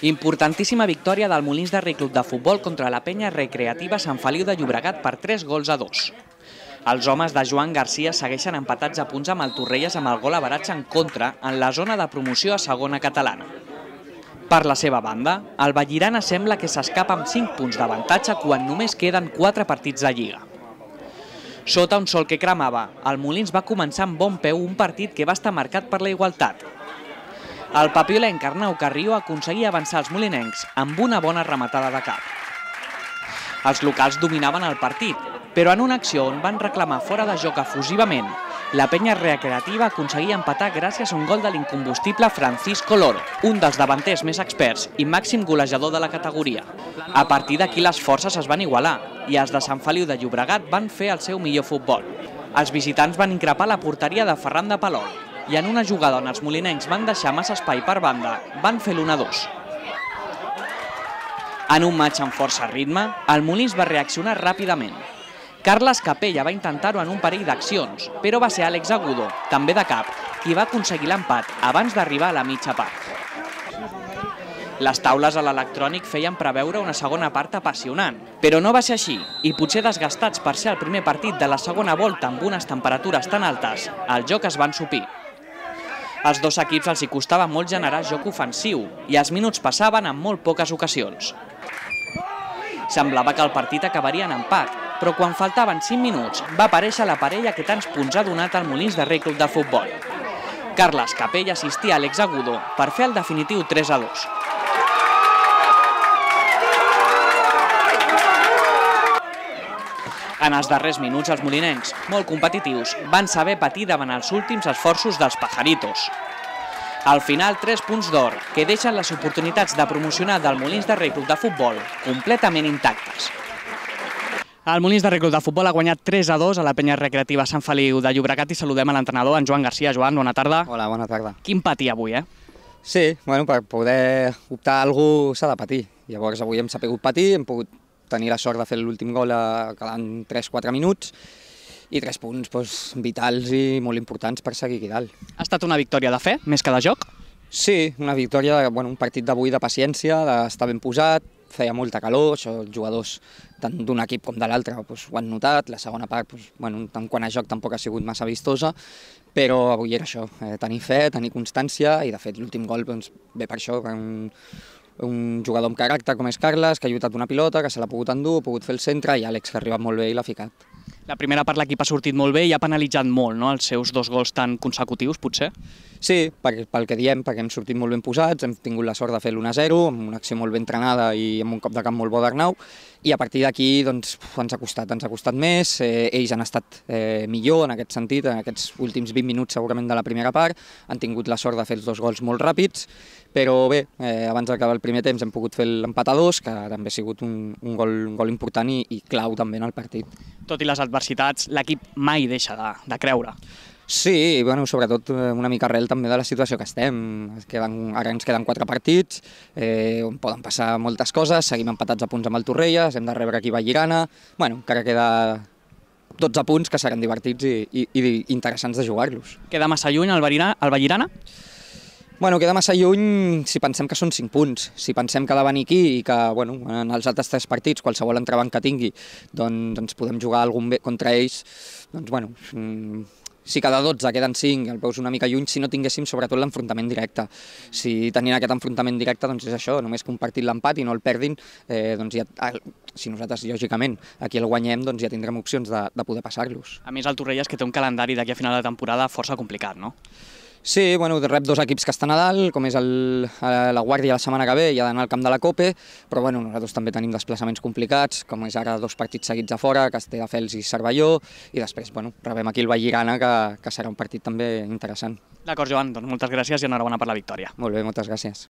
Importantíssima victòria del Molins de Rei Club de Futbol contra la penya recreativa Sant Feliu de Llobregat per 3-2. Els homes de Joan Garcia segueixen empatats a punts amb el Torrelles amb el gol average en contra en la zona de promoció a segona catalana. Per la seva banda, el Vallirana sembla que s'escapa amb 5 punts d'avantatge quan només queden 4 partits de Lliga. Sota un sol que cremava, el Molins va començar amb bon peu un partit que va estar marcat per la igualtat. El papiolenc Arnau Carrió aconseguia avançar els molinencs amb una bona rematada de cap. Els locals dominaven el partit, però en una acció on van reclamar fora de joc efusivament, la penya recreativa aconseguia empatar gràcies a un gol de l'incombustible Francisco Loro, un dels davanters més experts i màxim golejador de la categoria. A partir d'aquí les forces es van igualar i els de Sant Feliu de Llobregat van fer el seu millor futbol. Els visitants van increpar la porteria de Ferran de Palol i en una jugada on els molinencs van deixar massa espai per banda, van fer l'1-2. En un matx amb força ritme, el Molins va reaccionar ràpidament. Carles Capella va intentar-ho en un parell d'accions, però va ser Àlex Agudo, també de cap, qui va aconseguir l'empat abans d'arribar a la mitja part. Les taules a l'electrònic feien preveure una segona part apassionant, però no va ser així, i potser desgastats per ser el primer partit de la segona volta amb unes temperatures tan altes, el joc es va ensopir. Als dos equips els hi costava molt generar joc ofensiu i els minuts passaven en molt poques ocasions. Semblava que el partit acabaria en empat, però quan faltaven 5 minuts va aparèixer la parella que tants punts ha donat al Molins de Rei Club de Futbol. Carles Capella assistia a Àlex Agudo per fer el definitiu 3-2. En els darrers minuts, els molinencs, molt competitius, van saber patir davant els últims esforços dels pajaritos. Al final, 3 punts d'or, que deixen les oportunitats de promocionar del Molins de Rei Club de Futbol completament intactes. El Molins de Rei Club de Futbol ha guanyat 3-2 a la penya recreativa Sant Feliu de Llobregat i saludem a l'entrenador, en Joan Garcia. Joan, bona tarda. Hola, bona tarda. Quin patir avui, Sí, per poder optar a alguna cosa s'ha de patir. Llavors avui hem sabut patir, hem pogut tenir la sort de fer l'últim gol quedant 3-4 minuts i 3 punts vitals i molt importants per seguir aquí dalt. Ha estat una victòria de fe, més que de joc? Sí, una victòria, un partit d'avui de paciència, d'estar ben posat, feia molta calor, això els jugadors tant d'un equip com de l'altre ho han notat, la segona part, tant quant a joc tampoc ha sigut massa vistosa, però avui era això, tenir fe, tenir constància i de fet l'últim gol ve per això, un jugador amb caràcter com és Carles, que ha lluitat una pilota, que se l'ha pogut endur, ha pogut fer el centre i Àlex que ha arribat molt bé i l'ha ficat. La primera part l'equip ha sortit molt bé i ha penalitzat molt, no?, els seus 2 gols tan consecutius, potser? Sí, pel que diem, perquè hem sortit molt ben posats, hem tingut la sort de fer l'1-0, amb una acció molt ben entrenada i amb un cop de camp molt bo d'Arnau, i a partir d'aquí ens ha costat més, ells han estat millor en aquest sentit, en aquests últims 20 minuts segurament de la primera part, han tingut la sort de fer els 2 gols molt ràpids, però bé, abans d'acabar el primer temps hem pogut fer l'empat a 2, que també ha sigut un gol important i clau també en el partit. Tot i les adversitats, l'equip mai deixa de creure. Sí, sobretot una mica arrel també de la situació que estem. Ara ens queden 4 partits, on poden passar moltes coses, seguim empatats a punts amb el Torrelles, hem de rebre aquí Vallirana, encara queda 12 punts que seran divertits i interessants de jugar-los. Queda massa lluny el Vallirana? Queda massa lluny si pensem que són 5 punts. Si pensem que ha de venir aquí i que en els altres 3 partits, qualsevol entrebanc que tingui, doncs podem jugar algun bé contra ells, si cada 12 queden 5, el veus una mica lluny si no tinguéssim sobretot l'enfrontament directe. Si tenint aquest enfrontament directe és això, només compartir l'empat i no el perdin, si nosaltres lògicament aquí el guanyem ja tindrem opcions de poder passar-los. A més el Torrelles que té un calendari d'aquí a final de temporada força complicat, no? Sí, rep 2 equips que estan a dalt, com és la Guàrdia la setmana que ve i ha d'anar al camp de la Cope, però nosaltres també tenim desplaçaments complicats, com és ara 2 partits seguits a fora, Castelldefels i Cervelló, i després rebem aquí el Vallirana, que serà un partit també interessant. D'acord, Joan, doncs moltes gràcies i enhorabona per la victòria. Molt bé, moltes gràcies.